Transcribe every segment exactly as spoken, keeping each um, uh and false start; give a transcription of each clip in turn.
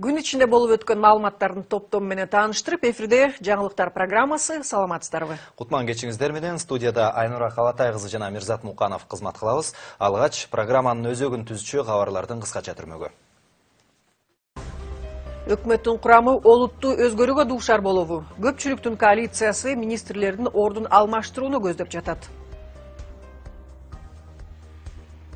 Күн ичинде болуп өткөн маалыматтардын топтому менен тааныштырып, эфирде жаңылыктар программасы. Саламатсыздарбы? Кутман кечиңиздер менен студияда Айнура Калатай кызы жана Мирзат Муканов кызмат кылабыз. Алгач программанын өзөгүн түзүүчү кабарлардын кыскача түрмөгү. Өкмөттүн курамы олуттуу өзгөрүүгө дуушар болобу? Көпчүлүктүн коалициясы министрлердин ордун алмаштырууну көздөп жатат.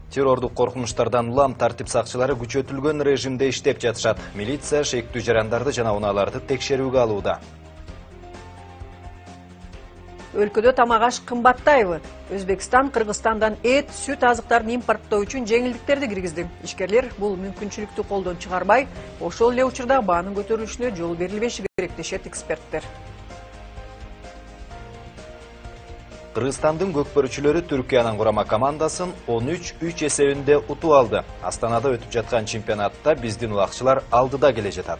Террордук коркунучтардан улам тартип сакчылары күчөтүлгөн режимде иштеп жатышат. Милиция шектүү жарандарды жана унааларды текшерүүгө алууда. Өлкөдө тамак аш кымбаттайбы? Өзбекстан Кыргызстандан эт, сүт азыктарын импорттоо үчүн жеңилдиктерди киргизди. Ишкерлер бул мүмкүнчүлүктү колдон чыгарбай, ошол эле учурда баанын көтөрүлүшүнө жол берилбеши керек дешет эксперттер. Кыргызстандын көкпөрүүчүлөрү Түркиянын курама командасын он үч үч эсебинде утуп алды. Астанада өтүп жаткан чемпионатта биздин улакчылар алдыда келе жатат.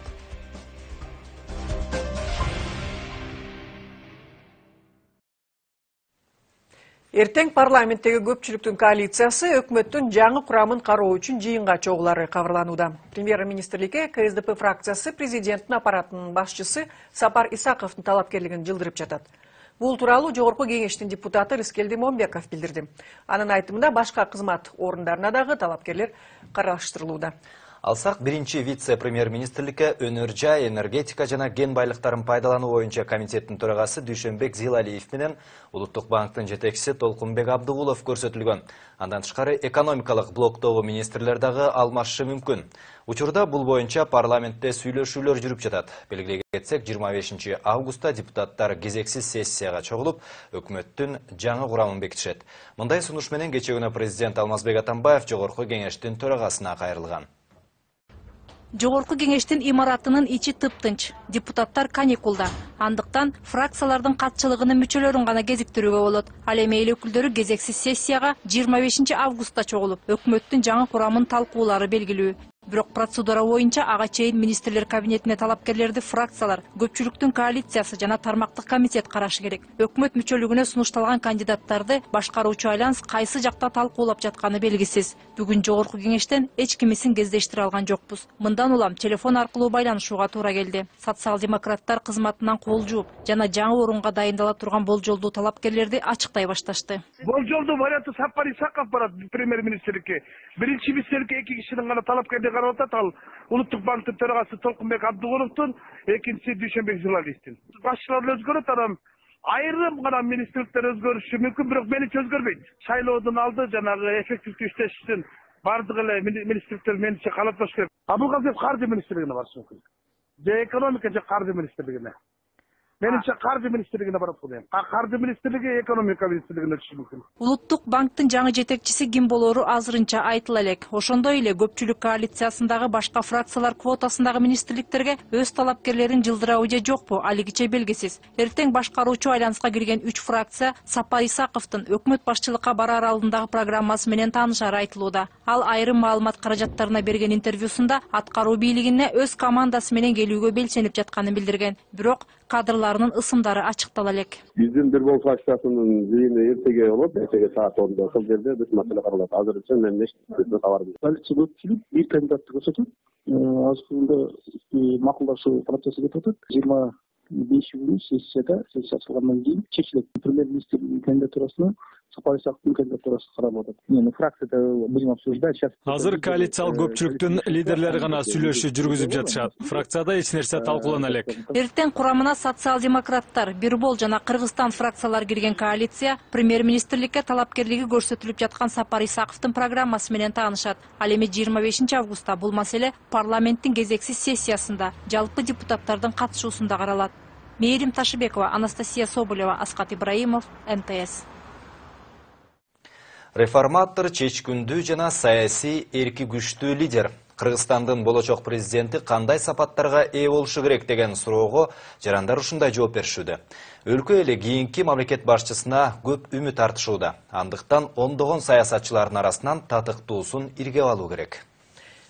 Эртең парламенттеги көпчүлүктүн коалициясы өкмөттүн жаңы курамын кароо үчүн жыйынга чогулары кабарланууда. Премьер-министрликке ка эс дэ пэ фракциясы президенттин аппаратынын башчысы Сапар Исаковдун талапкерлигин жылдырып жатат. Бул тууралуу Жогорку кеңештин депутаты Рыскелди Момбеков билдирди. Анын айтымында башка кызмат орундарына дагы талапкерлер караштырылууда. Алсак, биринчи вице-премьер-министрликке өнөр жай, энергетика жана кен байлыктарын пайдалануу боюнча комитеттин төрагасы Дүйшөнбек Зилалиев менен Улуттук банктын жетекчиси Толкунбек Абдыгулов көрсөтүлгөн. Андан тышкары экономикалык блоктогу министрлер дагы алмашышы мүмкүн. Учурда бул боюнча парламентте сүйлөшүүлөр жүрүп жатат. Белгилей кетсек, жыйырма бешинчи августта депутаттар кезексиз сессияга чогулуп, өкмөттүн жаңы курамын бекитишет. Мындай сунуш менен кечээ күнү президент Алмазбек Атамбаев Жогорку кеңештин төрагасына кайрылган. Жогорку кеңештин имаратынын ичи тыптынч. Депутаттар каникулда. Андыктан фракциялардын катчылыгынын мүчөлөрүн гана кезиктирүүгө болот. Ал эми эл өкүлдөрү кезексиз сессияга жыйырма бешинчи августта чогулуп, өкмөттүн жаңы курамын талкуулары белгилүү. Бирок процедура боюнча ага чейин министрлер кабинетине талапкерлерди фракциялар, көпчүлүктүн коалициясы жана тармактык комитет карашы керек. Өкмөт мүчөлүгүнө сунушталган кандидаттарды башкаруучу айланс кайсы жакта талкуулап жатканы белгисиз. Бүгүн Жогорку кеңештен эч кимисин кездештире алган жокпуз. Мындан улам телефон аркылуу байланышууга туура келди. Социал-демократтар кызматынан кол жууп жана жаңы орунга дайындала турган болжолдуу талапкерлерди ачыктай башташты. Болжолдуу варианты Сапар Исаков барат премьер-министрликке. Биринчи министрликке эки кишинин гана талапкерди карап атат. Ал Улуттук банктын төрагасы Толкунбек Абдыгуловдун, экинчиси Дүйшөнбек Зилалиевдин. Башчылар өзгөрөт, анан айрым гана министрликтер өзгөрүшү мүмкүн, бирок меничи өзгөрбөйт. Шайлоодун алды жанагы эффективдүү иштеш үчүн бардык эле министрликтер меничи калатпаш керек. Абылгазиев каржы министрлигине барышы мүмкүн. Же экономика же каржы министрлигине. Менимче каржы министрлигине барат бул эми. Каржы министрлиги экономика министрлигине өтүшү мүмкүн. Улуттук банктын жаңы жетекчиси ким болору азырынча айтыла элек. Ошондой эле көпчүлүк коалициясындагы башка фракциялар квотасындагы министрликтерге өз талапкерлерин жылдырабы же жокпу, алигиче белгисиз. Эртең башкаруучу айланска кирген үч фракция Сапар Исаковдун өкмөт башчылыкка барар алдындагы программасы менен таанышары айтылууда. Ал айрым маалымат каражаттарына берген интервьюсунда аткаруу бийлигине өз командасы менен келүүгө белсенип жатканын билдирген. Бирок кадрларынын ысымдары ачыктала элек. Биздин Бирбол фракциясынын жыйыны эртеге болот, эртеге саат онда ошол жерде бүт маселе каралат. Азырынча мен эч кабар жок. Коалиция көпчүлүк бир кандидатты көрсөтөт. Азыркы макулдашуу процесси кетип атат. жыйырма беши күнү сессияда, сессия ачылгандан кийин чечилет. Премьер-министрдин кандидатурасына Сапар Исаковдун кандидатурасы каралып атат. Эми фракцияда будем обсуждать сейчас. Азыр коалициялык көпчүлүктүн лидерлери гана сүйлөшүү жүргүзүп жатышат. Фракцияда эч нерсе талкуулана элек. Эртең курамына социал-демократтар, Бирбол жана Кыргызстан фракциялар кирген коалиция премьер-министрликке талапкерлиги көрсөтүлүп жаткан Сапар Исаковдун программасы менен таанышат. Ал эми жыйырма бешинчи августта бул маселе парламенттин кезексиз сессиясында жалпы депутаттардын катышуусунда каралат. Мээрим Ташыбекова, Анастасия Соболева, Аскат Ибраимов, эм тэ эс. Реформатор, чечкүндүү жана саясий эрки күчтүү лидер. Кыргызстандын болочок президенти кандай сапаттарга ээ болушу керек деген суроого жарандар ушундай жооп беришүүдө. Өлкө эли кийинки мамлекет башчысына көп үмүт артышууда. Андыктан ондогон саясатчылардын арасынан татыктуусун иргеп алуу керек.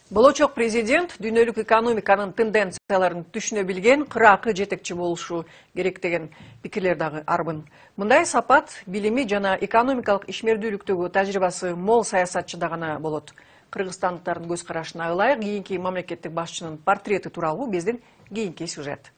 Болочок президент дүйнөлүк экономиканын тенденцияларын түшүнө билген кыракы жетекчи болушу керек деген пикирлер дагы арбын. Мындай сапат билими жана экономикалык ишмердүүлүктөгү тажрыйбасы мол саясатчыда гана болот. Кыргызстандыктардын көз карашына ылайык кийинки мамлекеттик башчынын портрети тууралуу биздин кийинки сюжет.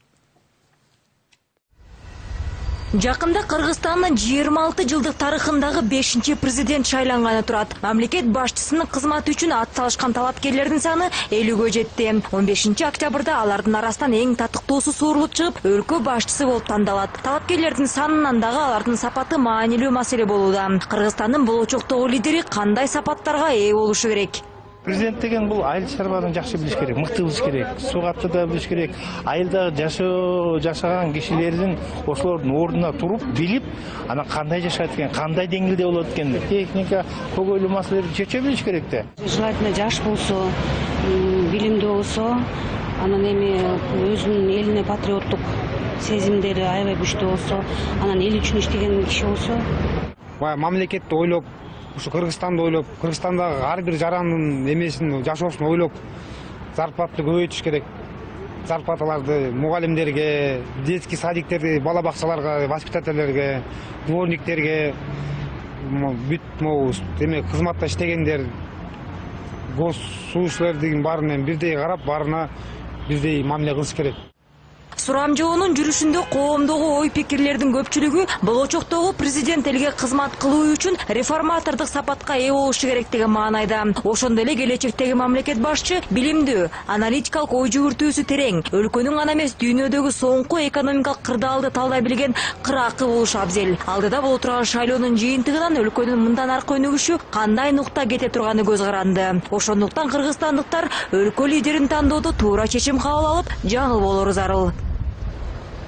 Жакында Кыргызстандын жыйырма алты жылдык тарыхындагы бешинчи президент шайланганы турат. Мамлекет башчысынын кызматы үчүн ат салышкан талапкерлердин саны элүүгө жетти. он бешинчи октябрда алардын арасынан эң татыктуусу суурулуп чыгып, өлкө башчысы болуп тандалат. Талапкерлердин санынан дагы алардын сапаты маанилүү маселе болууда. Кыргызстандын болочоктогу лидери кандай сапаттарга ээ болушу керек? Президент деген бул айыл чарбаны жакшы билиш керек, мыкты билиш керек, сугатты да билиш керек. Айылда жашоо жашаган кишилердин ошолордун ордуна туруп, билип, анан кандай жашайт экен, кандай деңгээлде болот экен, техника, көйгөйлүү маселелерди чече билиш керек да. Желательно жаш болсо, билимдүү болсо, анан эми өзүнүн элине патриоттук сезимдери аябай күчтүү болсо, анан эл үчүн иштеген киши болсо. Баягы мамлекетти ойлоп, ушу Кыргызстанды ойлоп, Кыргызстандагы ар бир жарандын эмесин, жашоосун ойлоп, зарплатты көбөйтүш керек. Зарплаталарды мугалимдерге, детский садиктерге, бала бакчаларга, воспитательлерге, дворниктерге, бүт могу эме кызматта иштегендер, гос суучулардын баарынан бирдей карап, баарына бирдей мамиле кылыш керек. Сурам жоонун жүрүшүндө коомдогу ой пикирлердин көпчүлүгү болочоктогу президент элге кызмат кылуу үчүн реформатордук сапатка ээ болушу керек деген маанайда. Ошондой эле келечектеги мамлекет башчы билимдүү, аналитикалык ой жүгүртүүсү терең, өлкөнүн гана эмес дүйнөдөгү соңку экономикалык кырдаалды талдай билген кыракы болушу абзел. Алдыда боло турган шайлоонун жыйынтыгынан өлкөнүн мындан аркы өнүгүшү кандай нукта кете турганы көз каранды. Ошондуктан кыргызстандыктар өлкө лидерин тандоодо туура чечим кабыл алып, жаңыл болору зарыл.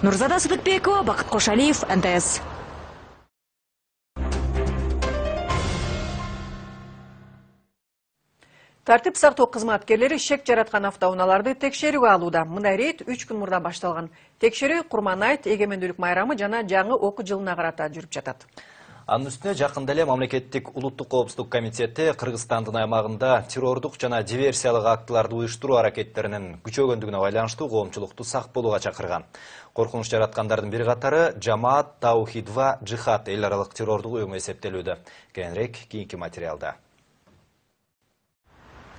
Нурзада Сыдыкбекова, Бакыт Кошалиев, эн тэ эс. Тартип сактоо кызматкерлери шек жараткан автоунааларды текшерүүгө алууда. Мындай рейд үч күн мурда башталган. Текшерүү Курманайт эгемендүүлүк майрамы жана жаңы окуу жылына карата жүрүп жатат. Анын үстүнө жакында эле мамлекеттик улуттук коопсуздук комитети Кыргызстандын аймагында террордук жана диверсиялык актыларды уюштуруу аракеттеринин күчөгөндүгүнө байланыштуу коомчулукту сак болууга чакырган. Коркунуч жараткандардын бир катары Жамаат Таухид ва Джихад эл аралык террордук уюму эсептелүүдө. Кийинирээк кийинки материалда.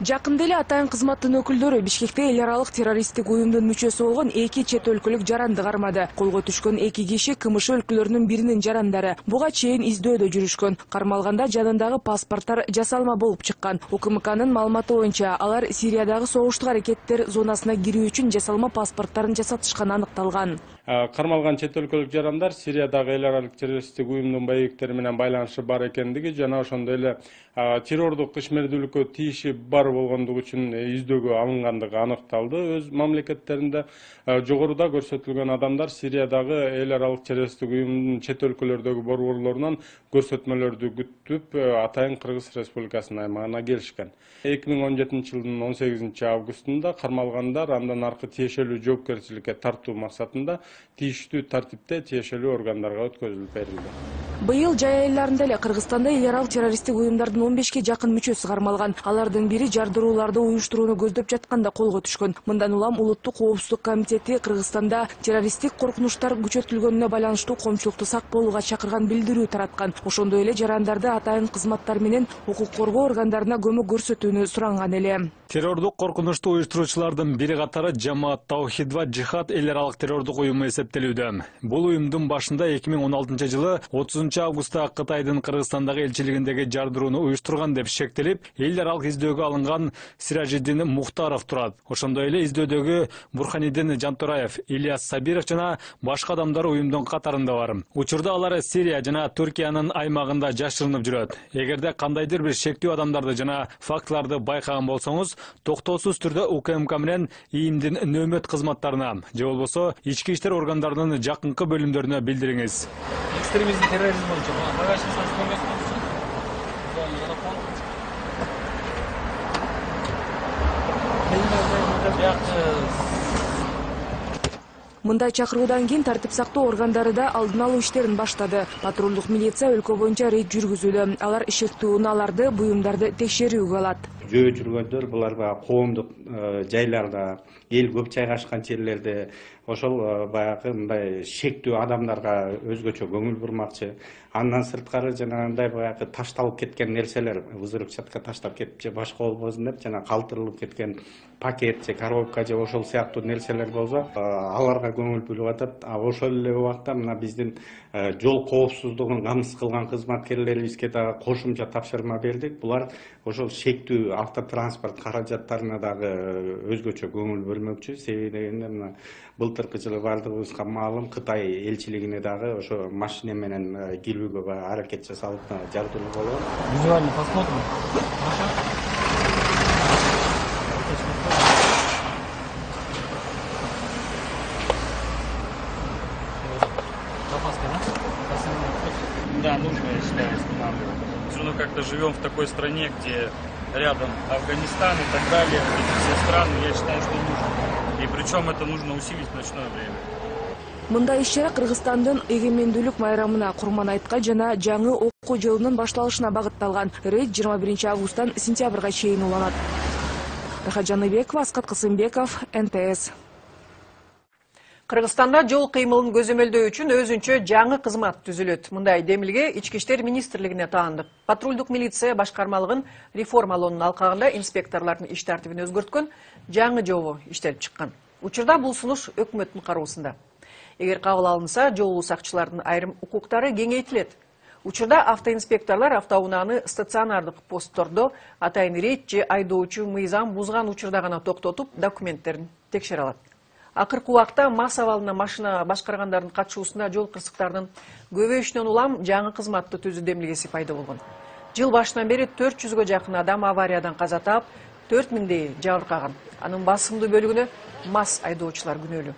Жакында эле атайын кызматтын өкүлдөрү Бишкекте эл аралык террористтик уюмдун мүчөсү болгон эки чет өлкөлүк жаранды кармады. Колго түшкөн эки киши КМШ өлкөлөрүнүн биринин жарандары. Буга чейин издөөдө жүрүшкөн. Кармалганда жанындагы паспорттор жасалма болуп чыккан. УКМКнын маалыматы боюнча алар Сириядагы согуштук аракеттер зонасына кирүү үчүн жасалма паспорттарын жасатышканы аныкталган. Кармалган чет өлкөлүк жарандар Сириядагы эл аралык террористтик уюмдун боевиктери менен байланышы бар экендиги жана ошондой эле террордук ишмердүүлүккө тийиши бар болгондугу үчүн издөөгө алынгандыгы аныкталды. Өз мамлекеттеринде жогоруда көрсөтүлгөн адамдар Сириядагы эл аралык террористтик уюмдун чет өлкөлөрдөгү борборлорунан көрсөтмөлөрдү күтүп атайын Кыргыз Республикасынын аймагына келишкен. эки миң он жетинчи жылдын он сегизинчи августунда кармалгандар андан аркы тиешелүү жоопкерчиликке тартуу максатында тийиштүү тартипте тиешелүү органдарга өткөзүлүп берилди. Быйыл жай айларында эле Кыргызстанда эл аралык террористтик уюмдардын он бешке жакын мүчөсү кармалган. Алардын бири жардырууларды уюштурууну көздөп жатканда колго түшкөн. Мындан улам улуттук коопсуздук комитети Кыргызстанда террористтик коркунучтар күчөтүлгөнүнө байланыштуу коомчулукту сак болууга чакырган билдирүү тараткан. Ошондой эле жарандарды атайын кызматтар менен укук коргоо органдарына көмөк көрсөтүүнү суранган эле. Террордук коркунучту уюштуруучулардын бири катары Жамаат Таухид ва Джихад эл аралык террордук уюму эсептелүүдө. Бул уюмдун башында эки миң он алтынчы жылы отузунчу августта Кытайдын Кыргызстандагы элчилигиндеги жардырууну уюштурган деп шектелип, эл аралык издөөгө алынган Сиражиддин Мухтаров турат. Ошондой эле издөдөгү Бурханиддин Жантураев, Ильяс Сабиров жана башка адамдар уюмдун катарында бар. Учурда алар Сирия жана Түркиянын аймагында жашырынып жүрөт. Эгерде кандайдыр бир шектүү адамдарды жана фактыларды байкаган болсоңуз, токтоосуз түрдө УКМК менен ИИМдин нөөмөт кызматтарына же болбосо ички иштер органдарынын жакынкы бөлүмдөрүнө билдириңиз. Экстремизм, терроризм боюнча багашын сатып Мындай чакыруудан кийин тартип сактоо органдары да алдын алуу иштерин баштады. Патрулдук милиция өлкө боюнча рейд жүргүзүүдө. Алар шектүү унааларды, буюмдарды текшерүүгө алат. жөө жүргөндөр, булар баягы коомдук жайларда, эл көп жайгашкан жерлерде ошол баягы мындай шектүү адамдарга өзгөчө көңүл бурмакчы. Андан сырткары жанагындай баягы ташталып кеткен нерселер, взрывчатка таштап кетип же башка болбосун деп, жана калтырылып кеткен пакет же коробка же ошол сыяктуу нерселер болсо, аларга көңүл бөлүп атат. А ошол эле убакта мына биздин жол коопсуздугун камсыз кылган кызматкерлерибизге дагы кошумча тапшырма бердик. Булар ошол шектүү автотранспорт каражаттарына дагы өзгөчө көңүл бөлмөкчү. Себеби дегенде мына былтыркы жылы бардыгыбызга маалым Кытай элчилигине дагы ошо машина менен кирүүгө баягы аракет жасалып жардыруу болгон. Визуальный посмотр. Да, нужно, я считаю, останавливать. Все равно как-то живем в такой стране, где рядом Афганистан и так далее, эти все страны, я считаю, что нужно. И причем это нужно усилить в ночное время. Мындай иш-чара Кыргызстандын эгемендүүлүк майрамына курман айткан жана жаңы окуу жылынын башталышына багытталган. Рейд жыйырма биринчи августтан сентябрга чейин уланат. Рахат Жаныбекова, Аскат Кысымбеков, эн тэ эс. Кыргызстанда жол кыймылын көзөмөлдөө үчүн өзүнчө жаңы кызмат түзүлөт. Мындай демилге Ички иштер министрлигине таандык. Патрулдук милиция башкармалыгын реформалоонун алкагында инспекторлордун иш тартибин өзгөрткөн жаңы жобо иштелип чыккан. Учурда бул сунуш өкмөттүн кароосунда. Эгер кабыл алынса, жол сакчылардын айрым укуктары кеңейтилет. Учурда автоинспекторлор автоунааны стационардык посттордо атайын рейд же айдоочу мыйзам бузган учурда гана токтотуп, документтерин текшере алат. Акыркы убакта мас абалына машина башкаргандардын катышуусунда жол кырсыктарынын көбөйүшүнөн улам жаңы кызматты түзүү демилгеси пайда болгон. Жыл башынан бери төрт жүзгө жакын адам авариядан каза таап, төрт миңдей жабыркаган. Анын басымдуу бөлүгүнө мас айдоочулар күнөөлүү.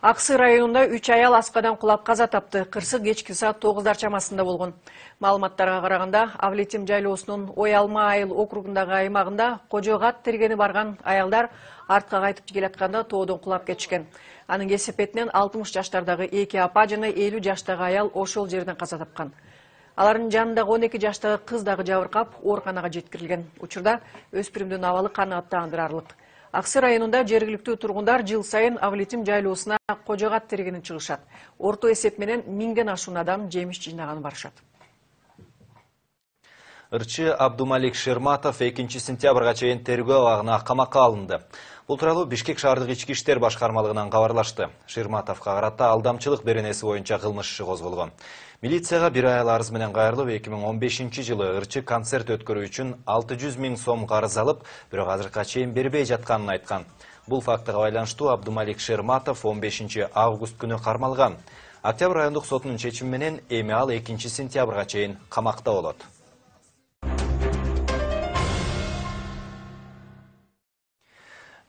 Аксы районунда үч аял аскадан кулап каза тапты. Кырсык кечки саат тогуздар чамасында болгон. Маалыматтарга караганда, Авлетим жайлоосунун Ой Алма айыл округундагы аймагында кожогат тергени барган аялдар артка кайтып келатканда тоодон кулап кетишкен. Анын кесепетинен алтымыш жаштардагы эки апа жана элүү жаштагы аял ошол жерден каза тапкан. Алардын жанындагы он эки жаштагы кыз дагы жабыркап, ооруканага жеткирилген. Учурда өспүрүмдүн абалы канааттандырарлык. Аксы районунда жергиликтүү тургундар жыл сайын Авлетим жайлоосуна кожогат тергенин чыгышат. Орто эсеп менен миңден ашуун адам жемиш жыйнаган барышат. Ырчы Абдумалик Шерматов экинчи сентябрга чейин тергөө абагына камакка алынды. Бул тууралуу Бишкек шаардык ички иштер башкармалыгынан кабарлашты. Шерматовго карата алдамчылык беренеси боюнча кылмыш иши козголгон. Милицияга бир айыл арыз менен кайрылып, эки миң он бешинчи жылы ырчы концерт өткөрүү үчүн алты жүз миң сом карыз алып, бирок азыркыга чейин бербей жатканын айткан. Бул фактыга байланыштуу Абдумалик Шерматов он бешинчи август күнү кармалган. Октябрь райондук сотунун чечими менен эми ал экинчи сентябрга чейин камакта болот.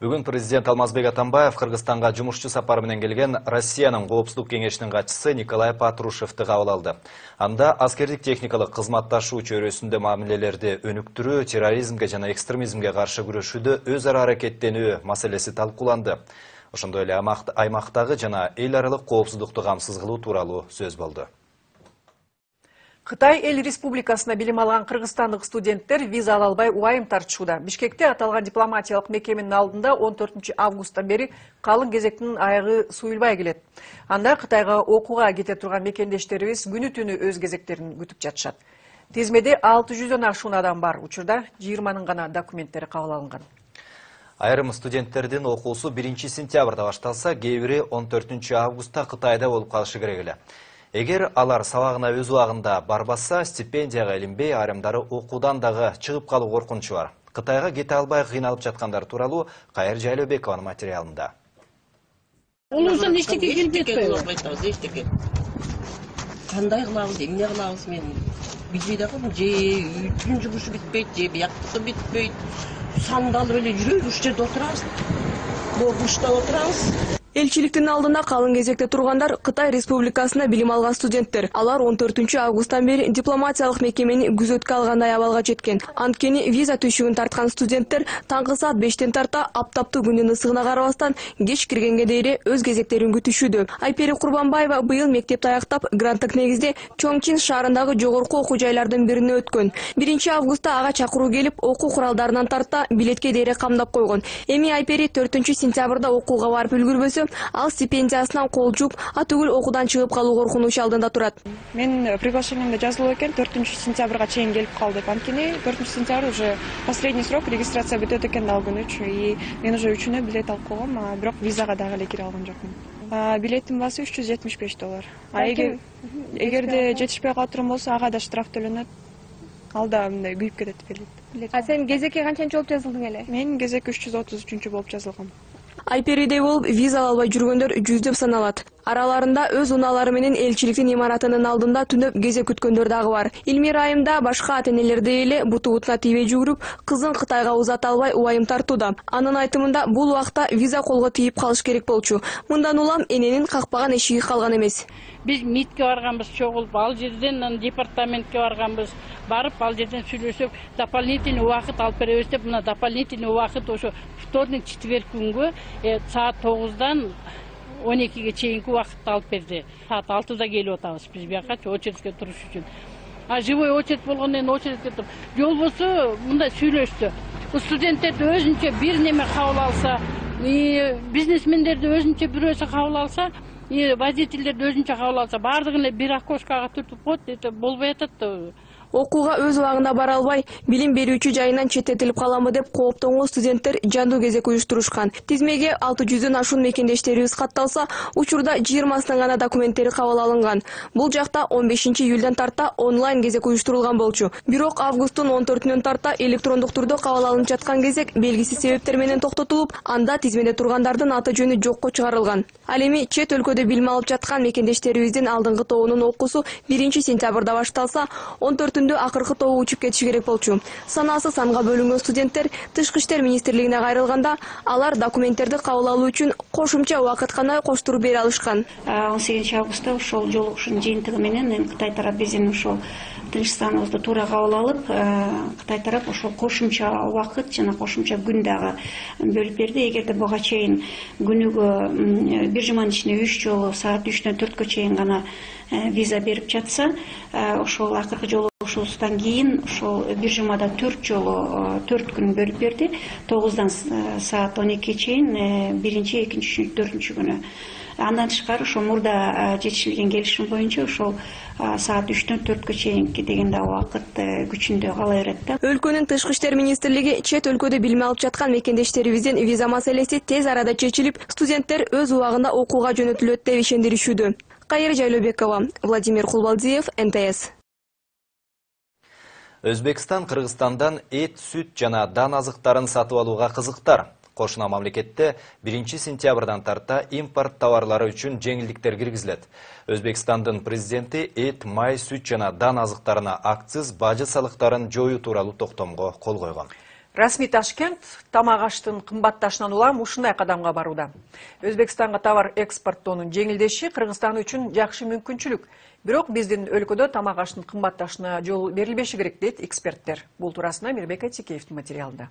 Бүгүн президент Алмазбек Атамбаев Кыргызстанга жумушчу сапары менен келген Россиянын коопсуздук кеңешинин катчысы Николай Патрушевди кабыл алды. Анда аскердик техникалык кызматташуу чөйрөсүндө мамилелерди өнүктүрүү, терроризмге жана экстремизмге каршы күрөшүүдө өз ара аракеттенүү маселеси талкууланды. Ошондой эле аймактагы жана эл аралык коопсуздукту камсыз кылуу тууралуу сөз болду. Кытай эл республикасына билим алган кыргызстандык студенттер виза ала албай убайым тартышууда. Бишкекте аталган дипломатиялык мекеменин алдында он төртүнчү августтан бери калың кезектин аягы суюлбай келет. Анда Кытайга окууга кете турган мекендештерибиз күнү түнү өз кезектерин күтүп жатышат. Тизмеде алты жүздөн ашуун адам бар. Учурда жыйырманын гана документтери кабыл алынган. Айрым студенттердин окуусу биринчи сентябрда башталса, кээ бири он төртүнчү августта Кытайда болуп калышы керек эле. Эгер алар сабагына өз убагында барбаса, стипендияга илинбей, айрымдары окуудан дагы чыгып калуу коркунучу бар. Кытайга кете албай кыйналып жаткандар тууралуу Кайыр Жайлообекованын материалында. Улуусун эчтеке келип жатпайбыз, эчтеке. Кандай кылабыз, эмне кылабыз мен билбей дагы, же үйдүн жумушу бүтпөйт, же бияктыкы бүтпөйт. Сандалып эле жүрөбүз, ушул жерде отурабыз. Коркунучта отурабыз. Элчиликтин алдында калың кезекте тургандар Кытай Республикасында билим алган студенттер. Алар он төртүнчү августтан бери дипломатиялык мекемени күзөткө алгандай абалга жеткен. Анткени виза түйшүгүн тарткан студенттер таңкы саат бештен тарта аптаптуу күндүн ысыгына карабастан кеч киргенге дейре өз кезектерин күтүшүүдө. Айпери Курбанбаева быйыл мектепти аяктап гранттык негизде Чоңчин шаарындагы жогорку окуу жайлардын бирине өткөн. биринчи августта ага чакыруу келип, окуу куралдарынан тарта билетке дейре камдап койгон. Эми Айпери төртүнчү сентябрда окууга барып үлгүрбөсө, ал стипендиясынан кол жууп, атүгүл окуудан чыгып калуу коркунучу алдында турат. Мен приглашениемде жазылып экен төртүнчү сентябрга чейин келип кал деп. Анткени төртүнчү сентябрь уже последний срок, регистрация бүтөт экен ал күнүчү. И мен уже үчүнө билет алып койгом, а бирок визага дагы эле кире алган жокмун. Билеттин баасы үч жүз жетимиш беш доллар. А эгер эгерде жетишпей калып болсо, ага да штраф төлөнөт. Ал да мындай күйүп кетет билет. А сен кезекке канчанчы болуп жазылдың эле? Мен кезек үч жүз отуз үчүнчү болуп жазылгам. Айперидей болуп виза албай жүргөндөр жүздөп саналат. Араларында өз унаалары менен элчиликтин имаратынын алдында түнөп кезек күткөндөр дагы бар. Илмир Айымда башка ата-энелердей эле буту бутуна тийбей жүгүрүп, кызын Кытайга узата албай убайым тартууда. Анын айтымында бул убакта виза колго тийип калыш керек болчу. Мындан улам эненин какпаган эшиги калган эмес. Биз МИДке барганбыз, чогулуп, ал жерден департаментке барганбыз. Барып, ал жерден сүйлөшүп, дополнительный убакыт алып беребиз деп, мына дополнительный убакыт ошо вторник, четверг күнгө саат тогуздан он экиге чейинки убакытты алып берди. Саат алтыда келип атабыз биз бияка очередке туруш үчүн. А живой очередь болгондон кийин очередке туруп, жол болсо мындай сүйлөштү. Студенттерди өзүнчө бир неме кабыл алса, бизнесмендерди өзүнчө бирөөсү кабыл алса, водительдерди өзүнчө кабыл алса, баардыгын эле бир окошкага түртүп коет, эте болбой атат да. Окууга өз убагында бара албай, билим берүүчү жайынан четтетилип каламы деп кооптонгон студенттер жандуу кезек уюштурушкан. Тизмеге алты жүздөн ашуун мекендештерибиз катталса, учурда жыйырмасынын гана документтери кабыл алынган. Бул жакта он бешинчи июлдан тарта онлайн кезек уюштурулган болчу. Бирок августтун он төртүнөн тарта электрондук түрдө кабыл алынып жаткан кезек белгисиз себептер менен токтотулуп, анда тизмеде тургандардын аты жөнү жокко чыгарылган. Ал эми чет өлкөдө билим алып жаткан мекендештерибиздин алдыңкы тобунун окуусу биринчи сентябрда башталса, он төртүндө акыркы тобу учуп кетиши керек болчу. Санаасы санга бөлүнгөн студенттер Тышкы иштер министрлигине кайрылганда, алар документтерди кабыл алуу үчүн кошумча убакыт гана коштуруп бере алышкан. он сегизинчи августта ошол жолугушуунун жыйынтыгы менен Кытай тарап биздин ошол Тынчсызданыбызды туура кабыл алып, Кытай тарап ошол кошумча убакыт жана кошумча күн дагы бөлүп берди. Эгерде буга чейин күнүгө бир жуманын ичинде үч жолу саат үчтөн төрткө чейин гана виза берип жатса, ошол акыркы жолугушуубуздан кийин ошол бир жумада төрт жолу төрт күн бөлүп берди. тогуздан саат он экиге чейин биринчи, экинчи, үчүнчү, төртүнчү күнү. Андан тышкары ошол мурда жетишилген келишим боюнча ошол саат үчтөн төрткө чейинки деген да убакыт күчүндө кала берет да. Өлкөнүн Тышкы иштер министрлиги чет өлкөдө билим алып жаткан мекендештерибиздин виза маселеси тез арада чечилип, студенттер өз убагында окууга жөнөтүлөт деп ишендиришүүдө. Кайыр Жайлообекова, Владимир Кулбалдиев, эн тэ эс. Өзбекстан Кыргызстандан эт, сүт жана дан азыктарын сатып алууга кызыктар. Кошуна мамлекетте биринчи сентябрдан тарта импорт товарлары үчүн жеңилдиктер киргизилет. Өзбекстандын президенти эт, май, сүт жана дан азыктарына акциз, бажы салыктарын жоюу тууралуу токтомго кол койгон. Расмий Ташкент тамак аштын кымбатташынан улам ушундай кадамга барууда. Өзбекстанга товар экспорттоонун жеңилдеши Кыргызстан үчүн жакшы мүмкүнчүлүк. Бирок биздин өлкөдө тамак аштын кымбатташына жол берилбеши керек дейт эксперттер. Бул туурасында Мирбек Айтикеевдин материалында.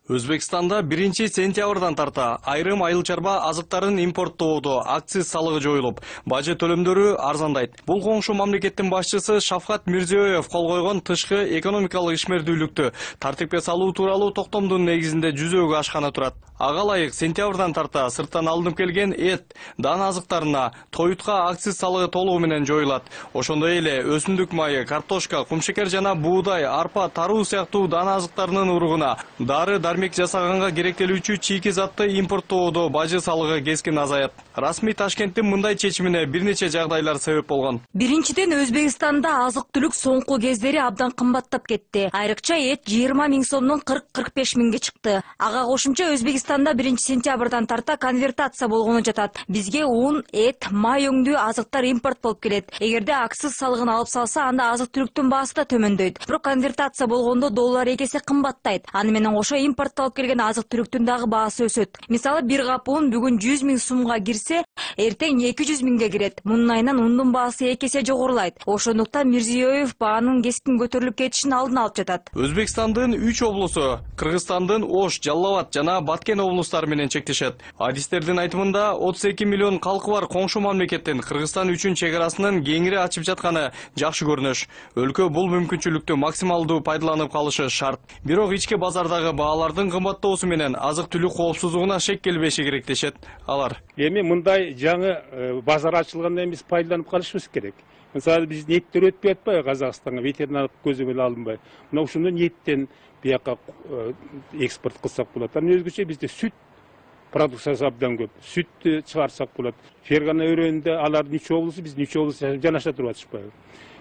Өзбекстанда биринчи сентябрдан тарта айрым айыл чарба азыктарын импорттоодо акциз салыгы жоюлуп, бажы төлөмдөрү арзандайт. Бул коңшу мамлекеттин башчысы Шавкат Мирзиёев кол койгон тышкы экономикалык ишмердүүлүктү тартипке салуу тууралуу токтомдун негизинде жүзөгө ашканы турат. Ага ылайык сентябрдан тарта сырттан алынып келген эт, дан азыктарына тоютка акциз салыгы толугу менен жоюлат. Ошондой эле өсүмдүк майы, картошка, кумшекер жана буудай, арпа, таруу сыяктуу дан азыктарынын уругуна дары дармек жасаганга керектелүүчү чийки затты импорттоодо бажы салыгы кескин азаят. Расмий Ташкенттин мындай чечимине бир нече жагдайлар себеп болгон. Биринчиден, Өзбекстанда азык-түлүк соңку кездери абдан кымбаттап кетти. Айрыкча эт жыйырма миң сомдон кырк кырк беш миңге чыкты. Ага кошумча Өзбекстанда биринчи сентябрдан тарта конвертация болгону жатат. Бизге un, эт, май өңдүү азыктар импорт болуп келет. Эгерде акциз салыгын алып салса, анда азык-түлүктүн баасы да төмөндөйт. Бирок конвертация болгондо доллар эки эсе кымбаттайт. Аны менен кошо импорттолуп келген азык-түлүктүн дагы баасы өсөт. Мисалы, бир кап un бүгүн жүз миң сумга кирсе, эртең эки жүз миңге кирет. Мунун айынан ундун баасы эки эсе жогорулайт. Ошондуктан Мирзиёев баанын кескин көтөрүлүп кетишин алдын алып жатат. Өзбекстандын үч облусу, Кыргызстандын Ош, Жалал-Абад жана Баткен облустары менен чектешет. Адистердин айтымында отуз эки миллион калкы бар коңшу мамлекеттин Кыргызстан үчүн чегарасынын кеңири ачып жатканы жакшы көрүнүш. Өлкө бул мүмкүнчүлүктү максималдуу пайдаланып калышы шарт. Бирок ички базардагы баалардын кымбаттоосу менен азык-түлүк коопсуздугуна шек келбеши керек дешет алар. Эми мындай жаңы базар ачылгандан биз пайдаланып калышыбыз керек. Мисалы, биз еттер өтпөй атпайбы Казакстанга, ветеринардык көзөмөл алынбай. Мына ушундан еттен бияка экспорт кылсак болот. Анан өзгөчө бизде сүт продукциясы абдан көп. Сүттү чыгарсак болот. Фергана өрөөнүндө алардын үч облусу, биздин үч облус жанаша туруп атышпайбы.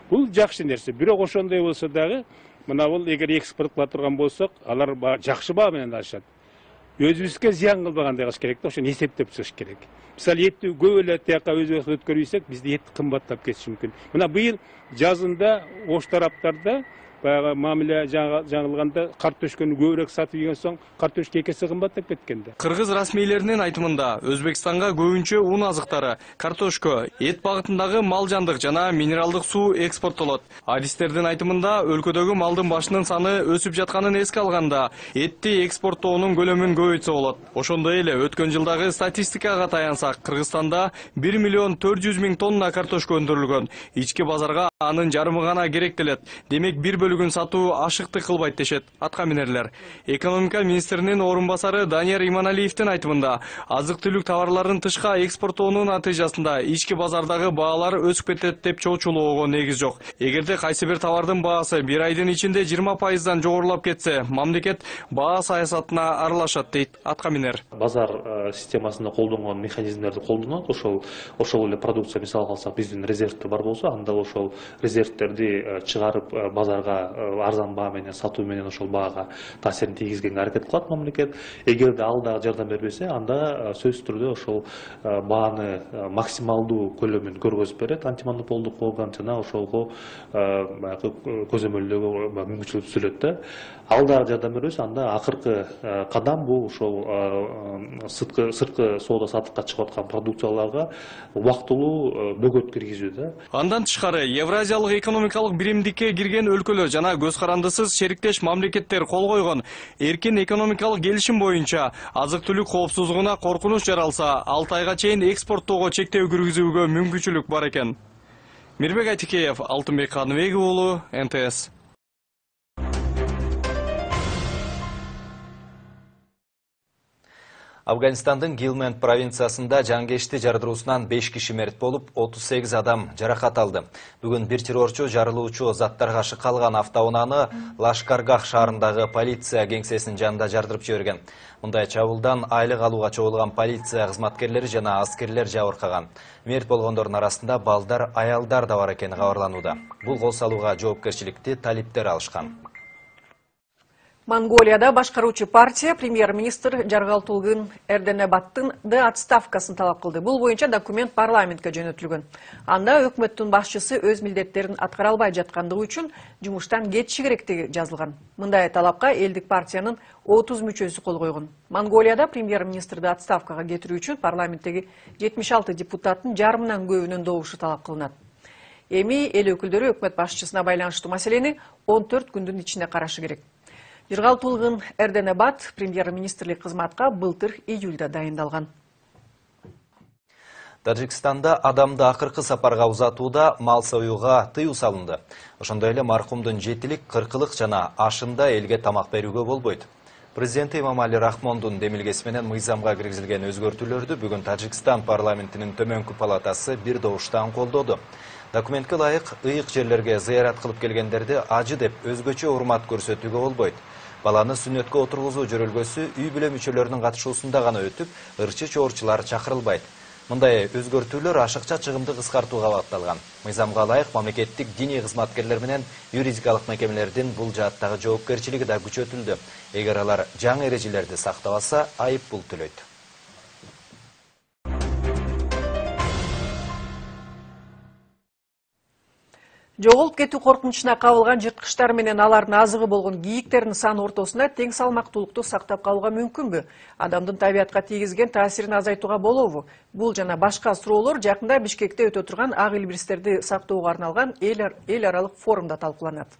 Бул жакшы нерсе. Бирок ошондой болсо дагы, мына бул эгер экспорт кыла турган болсок, алар жакшы баа менен алышат. Өзүбүзгө зыян кылбагандай кылыш керек да, ошону эсептеп чыгыш керек. Мисалы, этти көп эле тияка өзбекстан өткөрбөйсөк, бизде эт кымбаттап кетиши мүмкүн. Мына быйыл жазында Ош тараптарда баягы мамиле жаңылганда картошканы көбүрөөк сатып ийген соң картошка эки эсе кымбаттап кеткен да. Кыргыз расмийлеринин айтымында Өзбекстанга көбүнчө un азыктары, картошка, эт багытындагы мал жандык жана минералдык суу экспорттолот. Адистердин айтымында өлкөдөгү малдын башынын саны өсүп жатканын эске алганда, этти экспорттоонун көлөмүн көбөйтсө болот. Ошондой эле өткөн жылдагы статистикага таянсак, Кыргызстанда бир миллион төрт жүз миң тонна картошка өндүрүлгөн. Ички базарга анын жарымы гана керектелет. Демек бир бөлүгүн сатуу ашыктык кылбайт дешет атка минерлер. Экономика министринин орун басары Данияр Иманалиевдин айтымында, азык-түлүк товарларын тышка экспорттоонун натыйжасында ички базардагы баалар өсүп кетет деп чоочулоого негиз жок. Эгерде кайсы бир товардын баасы бир айдын ичинде жыйырма пайыздан жогорулап кетсе, мамлекет баа саясатына аралашат дейт атка минер. Базар системасында колдонгон механизмдерди колдонот. Ошол ошол эле продукция мисал алсак, биздин резервде бар болсо, анда ошол резервтерди чыгарып базарга арзан баа менен сатуу менен ошол баага таасирин тийгизгенге аракет кылат мамлекет. Эгерде ал дагы жардам бербесе, анда сөзсүз түрдө ошол бааны максималдуу көлөмүн көргөзүп берет антимонополдук орган жана ошолго баягы көзөмөлдөгө мүмкүнчүлүк түзүлөт да. Ал дагы жардам бербесе, анда акыркы кадам бул ошол сырткы сырткы соода саттыкка чыгып аткан продукцияларга убактылуу бөгөт киргизүү да. Андан тышкары Евразиялык экономикалык биримдикке кирген өлкөлөр жана көз карандысыз шериктеш мамлекеттер кол койгон эркин экономикалык келишим боюнча азык-түлүк коопсуздугуна коркунуч жаралса, алты айга чейин экспорттоого чектөө киргизүүгө мүмкүнчүлүк бар экен. Мирбек Айтикеев, Алтынбек Каныбек уулу, эн тэ эс. Афганистандын Гилмент провинциясында жангешти жардыруусунан беш киши мерт болуп, отуз сегиз адам жаракат алды. Бүгүн бир террорчу жарылуучу заттарга шыкалган автоунааны Лашкаргах шаарындагы полиция кеңсесинин жанында жардырып жиберген. Мындай чабуулдан айлык алууга чогулган полиция кызматкерлери жана аскерлер жабыркаган. Мерт болгондордун арасында балдар, аялдар да бар экени кабарланууда. Бул кол салууга жоопкерчиликти талиптер алышкан. Монголияда башкаруучу партия премьер-министр Жаргалтулгын Эрденебаттын да отставкасын талап кылды. Бул боюнча документ парламентке жөнөтүлгөн. Анда өкмөттүн башчысы өз милдеттерин аткара албай жаткандыгы үчүн жумуштан кетиши керектиги жазылган. Мындай талапка элдик партиянын отуз мүчөсү кол койгон. Монголияда премьер-министрди отставкага кетирүү үчүн парламенттеги жетимиш алты депутаттын жарымынан көбүнүн добушу талап кылынат. Эми эл өкүлдөрү өкмөт башчысына байланыштуу маселени он төрт күндүн ичинде карашы керек. Жаргалтулгын Эрденебат премьер-министрлик кызматка былтыр июлда дайындалган. Тажикстанда адамды акыркы сапарга узатууда мал союуга тыюу салынды. Ошондой эле маркумдун жетилик, кыркылык жана ашында элге тамак берүүгө болбойт. Президенти Эмомали Рахмондун демилгеси менен мыйзамга киргизилген өзгөртүүлөрдү бүгүн Тажикстан парламентинин төмөнкү палатасы бир добуштан колдоду. Документке ылайык ыйык жерлерге зыярат кылып келгендерди ажы деп өзгөчө урмат көрсөтүүгө болбойт. Баланы сүннөткө отургузуу жөрөлгөсү үй бүлө мүчөлөрүнүн катышуусунда гана өтүп, ырчы чоорчулар чакырылбайт. Мындай өзгөртүүлөр ашыкча чыгымды кыскартууга багытталган. Мыйзамга ылайык мамлекеттик диний кызматкерлер менен юридикалык мекемелердин бул жааттагы жоопкерчилиги да күчөтүлдү. Эгер алар жаңы эрежелерди сактабаса, айып пул төлөйт. Жоголуп кетүү коркунучуна кабылган жырткычтар менен алардын азыгы болгон кийиктердин саны ортосунда тең салмактуулукту сактап калууга мүмкүнбү? Адамдын табиятка тийгизген таасирин азайтууга болобу? Бул жана башка суроолор жакында Бишкекте өтө турган ак илбирстерди сактоого арналган эл аралык форумда талкууланат.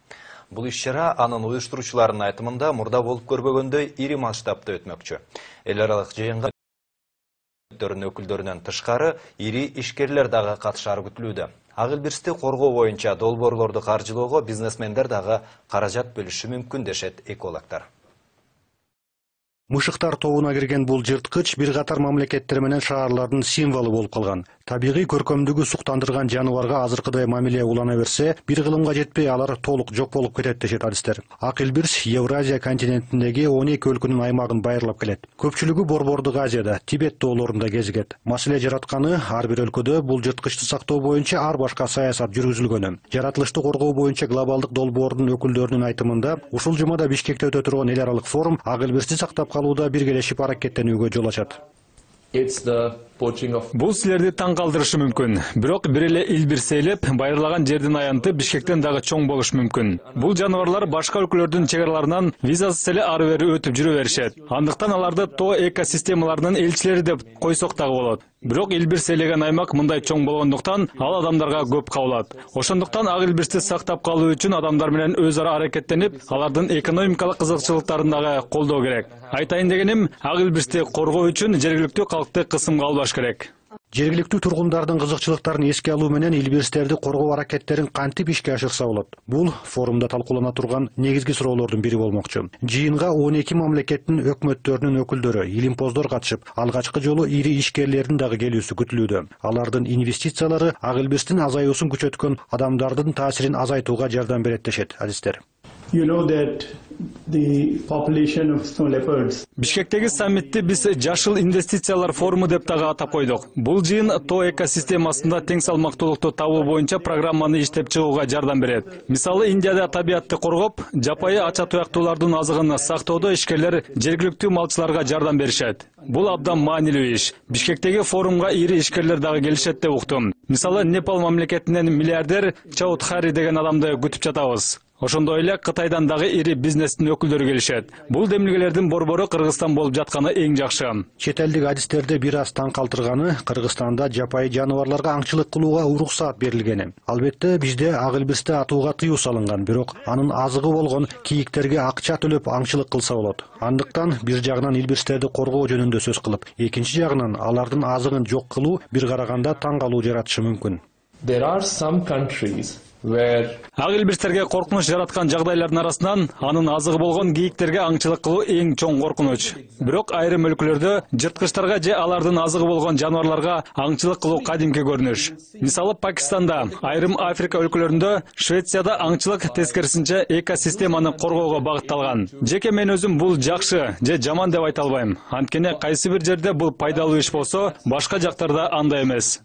Бул иш-чара анын уюштуруучуларынын айтымында мурда болуп көрбөгөндөй ири масштабта өтмөкчү. Эл аралык жыйынга өкүлдөрүнөн тышкары ири ишкерлер дагы катышары күтүлүүдө. Ак илбирсти коргоо боюнча долбоорлорду каржылоого бизнесмендер дагы каражат бөлүшү мүмкүн дешет экологдор. Мышыктар тобуна кирген бул жырткыч бир катар мамлекеттер менен шаарлардын символу болуп калган. Табигый көркөмдүгү суктандырган жаныбарга азыркыдай мамиле улана берсе, бир кылымга жетпей алар толук жок болуп кетет дешет адистер. Ак илбирс Евразия континентиндеги он эки өлкөнүн аймагын байырлап келет. Көпчүлүгү Борбордук Азияда, Тибет тоолорунда кезигет. Маселе жаратканы ар бир өлкөдө бул жырткычты сактоо боюнча ар башка саясат жүргүзүлгөнү. Жаратылышты коргоо боюнча глобалдык долбоордун өкүлдөрүнүн айтымында, ушул жумада Бишкекте өтө турган эл аралык форум ак илбирсти сактап калууда биргелешип аракеттенүүгө жол ачат. Бул силерди таң калтырышы мүмкүн. Бирок бир эле илбирс ээлеп, байырлаган жердин аянты Бишкектен дагы чоң болушу мүмкүн. Бул жаныбарлар башка өлкөлөрдүн чек араларынан визасыз эле ары бери өтүп жүрө беришет. Андыктан аларды тоо экосистемаларынын элчилери деп койсок дагы болот. Бирок илбирс ээлеген аймак мындай чоң болгондуктан ал адамдарга көп кабылат. Ошондуктан ак илбирсти сактап калуу үчүн адамдар менен өз ара аракеттенип, алардын экономикалык кызыкчылыктарын дагы колдоо керек. Айтайын дегеним, ак илбирсти коргоо үчүн жергиликтүү калкты кысымга албаш керек. Жергиликтүү тургундардын кызыкчылыктарын эске алуу менен илбирстерди коргоо аракеттерин кантип ишке ашырса болот? Бул форумда талкуулана турган негизги суроолордун бири болмокчу. Жыйынга он эки мамлекеттин өкмөттөрүнүн өкүлдөрү, илимпоздор катышып, алгачкы жолу ири ишкерлердин дагы келүүсү күтүлүүдө. Алардын инвестициялары ак илбирстин азаюусун күчөткөн адамдардын таасирин азайтууга жардам берет дешет адистер. You know that the population of snow leopards. Бишкектеги саммитти биз жашыл инвестициялар форуму деп дагы атап койдук. Бул жыйын тоо экосистемасында тең салмактуулукту табуу боюнча программаны иштеп чыгууга жардам берет. Мисалы, Индияда табиатты коргоп, жапайы ача туяктуулардын азыгын сактоодо ишкерлер жергиликтүү малчыларга жардам беришет. Бул абдан маанилүү иш. Бишкектеги форумга ири ишкерлер дагы келишет деп уктум. Мисалы, Непал мамлекетинен миллиардер Чаудхари деген адамды күтүп жатабыз. Ошондой эле Кытайдан дагы ири бизнестин өкүлдөрү келишет. Бул демилгелердин борбору Кыргызстан болуп жатканы эң жакшы. Чет элдик адистерди бир аз таң калтырганы Кыргызстанда жапайы жаныбарларга аңчылык кылууга уруксаат берилгени. Албетте бизде ак илбирсти атууга тыюу салынган, бирок анын азыгы болгон кийиктерге акча төлөп аңчылык кылса болот. Андыктан бир жагынан илбирстерди коргоо жөнүндө сөз кылып, экинчи жагынан алардын азыгын жок кылуу бир караганда таң калуу жаратышы мүмкүн. There are some countries Ак илбирстерге коркунуч жараткан жагдайлардын арасынан анын азыгы болгон кийиктерге аңчылык кылуу эң чоң коркунуч. Бирок айрым өлкөлөрдө жырткычтарга же алардын азыгы болгон жаныбарларга аңчылык кылуу кадимки көрүнүш. Мисалы, Пакистанда, айрым Африка өлкөлөрүндө, Швецияда аңчылык тескерисинче экосистеманы коргоого багытталган. Жеке мен өзүм бул жакшы же жаман деп айта албайм. Анткени кайсы бир жерде бул пайдалуу иш болсо, башка жактарда андай эмес.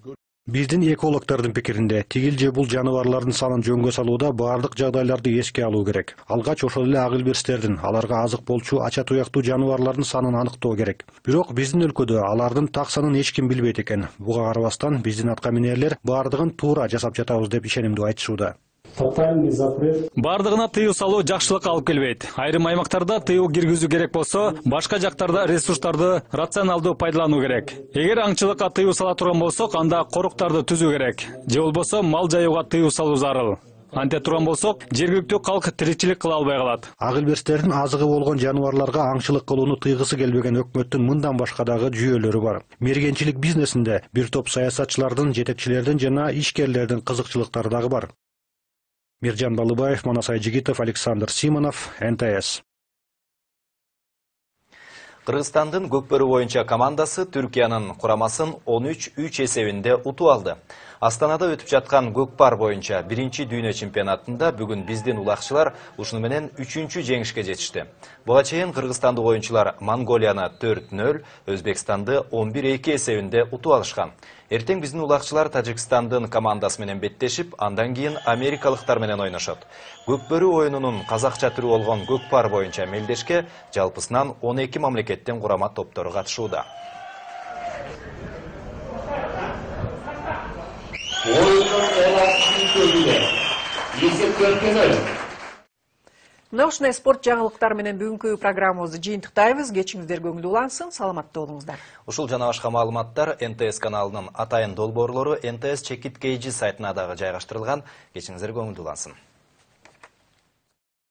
Биздин экологдордун пикиринде, тигил же бул жаныбарлардын санын жөнгө салууда баардык жагдайларды эске алуу керек. Алгач ошол эле ак илбирстердин, аларга азык болчу ача туяктуу жаныбарлардын санын аныктоо керек. Бирок биздин өлкөдө алардын так санын эч ким билбейт экен. Буга карабастан биздин атка минерлер баардыгын туура жасап жатабыз деп ишенимдүү айтышууда. Бардыгына тыюу салуу жакшылыкка алып келбейт. Айрым аймактарда тыюу киргизүү керек болсо, башка жактарда ресурстарды рационалдуу пайдалануу керек. Эгер аңчылыкка тыюу сала турган болсок, анда коруктарды түзүү керек. Же болбосо мал жаюуга тыюу салуу зарыл. Анте турган болсок, жергиликтүү калк тиричилик кыла албай калат. Ак илбирстердин азыгы болгон жаныбарларга аңчылык кылууну тыйгысы келбеген өкмөттүн мындан башка дагы жүйөлөрү бар. Мергенчилик бизнесинде бир топ саясатчылардын, жетекчилердин жана ишкерлердин кызыкчылыктары дагы бар. Миржан Балыбаев, Манас Айжигитов, Александр Симонов, эн тэ эс. Кыргызстандын көкбөрү боюнча командасы Түркиянын курамасын он үч үч эсебинде утуп алды. Астанада өтүп жаткан көкпар боюнча биринчи дүйнө чемпионатында бүгүн биздин улакчылар ушуну менен үчүнчү жеңишке жетишти. Буга чейин кыргызстандык оюнчулар Монголияны төрт нөл, Өзбекстанды он бир эки эсебинде утуп алышкан. Эртең биздин улакчылар Тажикстандын командасы менен беттешип, андан кийин америкалыктар менен ойношот. Көкбөрү оюнунун казакча түрү болгон көкпар боюнча мелдешке жалпысынан он эки мамлекеттен курама топтору катышууда. Мына ушундай спорт жаңылыктары менен бүгүнкү программабызды жыйынтыктайбыз. Кечиңиздер көңүлдүү улансын, саламатта болуңуздар. Ушул жана башка маалыматтар эн тэ эс каналынын атайын долбоорлору эн тэ эс чекит кейжи сайтына дагы жайгаштырылган. Кечиңиздер көңүлдүү улансын.